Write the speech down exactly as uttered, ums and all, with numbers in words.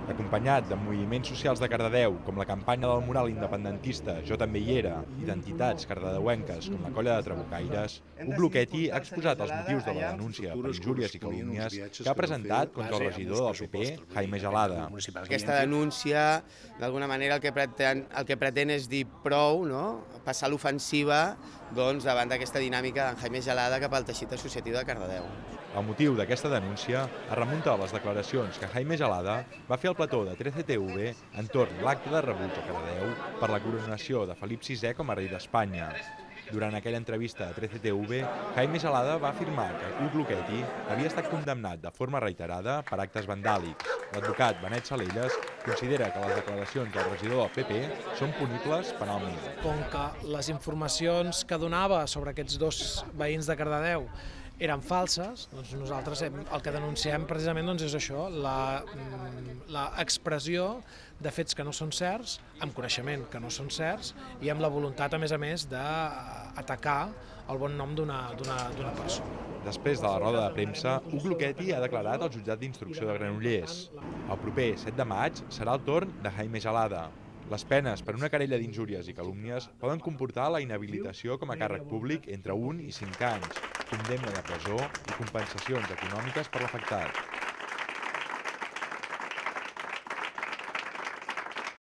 Acompanyat de moviments socials de Cardedeu, com la campanya del mural independentista Jo també hi era, i d'entitats cardedeuenques com la Colla de Trabucaires, Hug Lucchetti ha exposat els motius de la denúncia per injúries i calúmnies que ha presentat contra el regidor del P P, Jaime Gelada. Aquesta denúncia, d'alguna manera, el que pretén, el que pretén és dir prou, no? Passar l'ofensiva doncs, davant d'aquesta dinàmica d'en Jaime Gelada cap al teixit associatiu de Cardedeu. El motiu d'aquesta denúncia es remunta a les declaracions que Jaime Gelada va fer al plató de trece T V entorn l'acte de rebuig a Cardedeu per la coronació de Felip sisè com a rei d'Espanya. Durant aquella entrevista a trece T V, Jaime Gelada va afirmar que Hug Lucchetti havia estat condemnat de forma reiterada per actes vandàlics. L'advocat Benet Salelles considera que les declaracions del regidor del P P són punibles penalment. Com que les informacions que donava sobre aquests dos veïns de Cardedeu eren falses, doncs nosaltres hem, el que denunciem precisament doncs és això, la, la expressió de fets que no són certs, amb coneixement que no són certs i amb la voluntat, a més a més, d'atacar el bon nom d'una persona. Després de la roda de premsa, Hug Lucchetti ha declarat al jutjat d'instrucció de Granollers. El proper set de maig serà el torn de Jaime Gelada. Les penes per una querella d'injúries i calúmnies poden comportar la inhabilitació com a càrrec públic entre un i cinc anys, condemna de presó i compensacions econòmiques per l'afectat.